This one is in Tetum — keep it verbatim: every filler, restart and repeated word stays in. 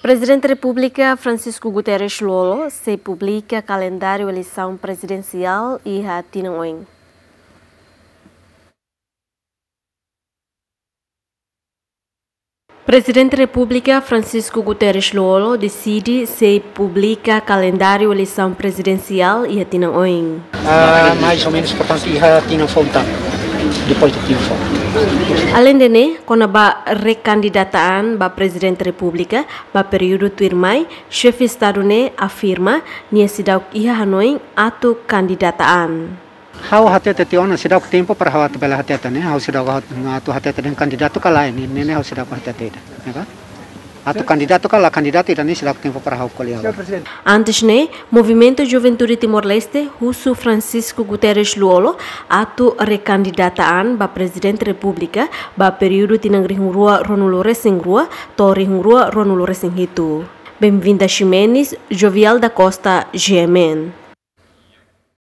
Prezidente Repúblika Francisco Guterres Lú-Olo sei publika kalendáriu eleisaun prezidensiál iha tinan oin. Prezidente Repúblika Francisco Guterres Lú-Olo deside sei publika kalendáriu eleisaun prezidensiál iha tinan oin. Ah, mais ou menos, portanto, iha tinan foun tan, depois de tinan foun. Aleinde ne'e, kona-ba rekandidata-an ba Prezidente Repúblika ba períodu tuirmai, Xefe Estadu ne'e afirma nia seidauk iha hanoin atu kandidata an. Ha'u hatete tiha ona, seidauk tempu para ha'u atu bele hatete ne'e, ha'u seidauk atu hatete dehan kandidatu ka lae, ne'e, ne'e ha'u seidauk hatete ida, ya kan? Atu kandidatu ka la kandidatu ida-ne'e seidauk tempu para ha'u ko'alia. Antes ne'e, Movimentu Juventude Timor-Leste husu Francisco Guterres Lú-Olo atu rekandidata an ba Prezidente Repúblika ba períodu tinan rihun rua ruanulu resin rua to'o rihun rua ruanulu resin hitu. Benvinda Ximenes, Jovial da Costa, G M N.